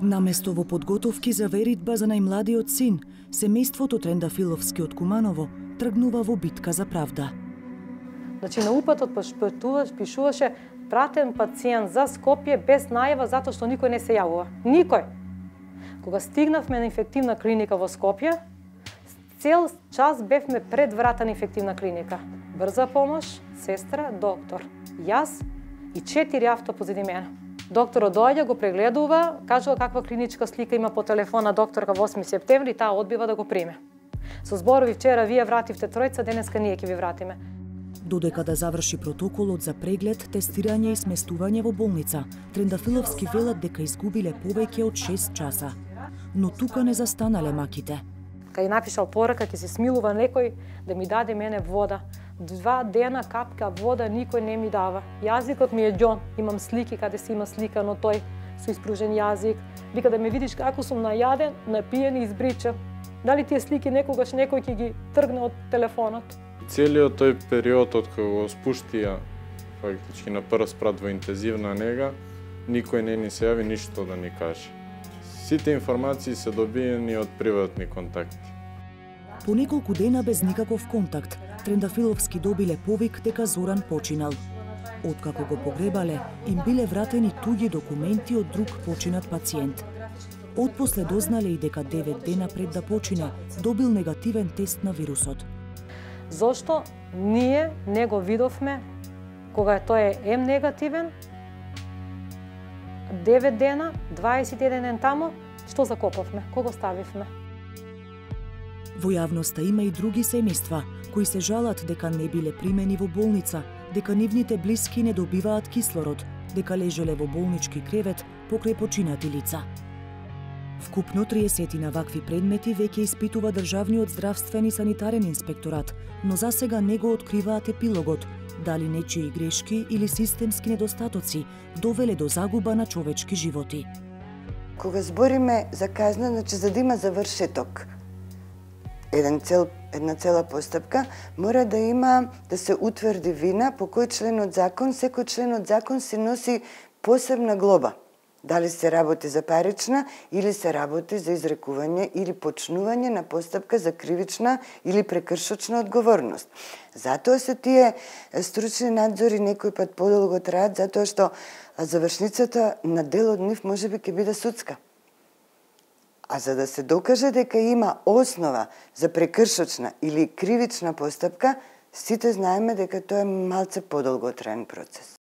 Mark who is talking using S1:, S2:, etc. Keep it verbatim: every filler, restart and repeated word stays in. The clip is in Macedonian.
S1: Наместо во подготовки за веритба за најмладиот син, семејството Трендафиловски од Куманово тргнува во битка за правда.
S2: Значи на упатот пишуваше пратен пациент за Скопје без најава затоа што никој не се јавува. Никој. Кога стигнавме на инфективна клиника во Скопје, цел час бевме пред врата на инфективна клиника. Брза помош, сестра, доктор, јас и четири авто позади мене. Докторот доаѓа, го прегледува, кажува каква клиничка слика има по телефона докторка во осми септември и таа одбива да го приме. Со зборови вчера вие вративте тројца, денеска ние ќе ви вратиме.
S1: Додека да заврши протоколот за преглед, тестирање и сместување во болница, Трендафиловски велат дека изгубиле повеќе од шест часа. Но тука не застанале маките.
S2: Кај напишал порака, ќе се смилува некој да ми даде мене вода. Два дена капка вода никој не ми дава. Јазикот ми е ѓон, имам слики каде се има слика, но тој со испружен јазик. Вика да ме видиш како сум најаден, напиен и избричен. Дали тие слики некогаш некој ќе ги тргне од телефонот?
S3: Целиот тој период од кога го спуштија фактички на прв спрат во интензивна нега, никој не ни се јави ништо да ни каже. Сите информации се добиени од приватни контакти.
S1: По неколку дена без никаков контакт, Трендафиловски добиле повик дека Зоран починал. Откако го погребале, им биле вратени туѓи документи од друг починат пациент. Отпосле дознале и дека девет дена пред да почине, добил негативен тест на вирусот.
S2: Зошто ние не го видовме кога тој е М негативен, девет дена, дваесет и еден ден тамо, што закопавме, кого ставивме?
S1: Во јавноста има и други семејства кои се жалат дека не биле примени во болница, дека нивните блиски не добиваат кислород, дека лежеле во болнички кревет покрај починати лица. Вкупно триесет на вакви предмети веќе испитува Државниот здравствен и санитарен инспекторат, но засега не го откриваат епилогот, дали нечии грешки или системски недостатоци довеле до загуба на човечки животи.
S4: Кога збориме за казна, значи за да има завршеток, еден цел, една цела постапка, мора да има, да се утврди вина по кој член од закон, секој член од закон се носи посебна глоба. Дали се работи за парична или се работи за изрекување или почнување на постапка за кривична или прекршочна одговорност. Затоа се тие стручни надзори некој пат подолго траат, затоа што завршницата на дел од нив можеби ќе биде судска. А за да се докаже дека има основа за прекршочна или кривична постапка, сите знаеме дека тоа е малце подолготраен процес.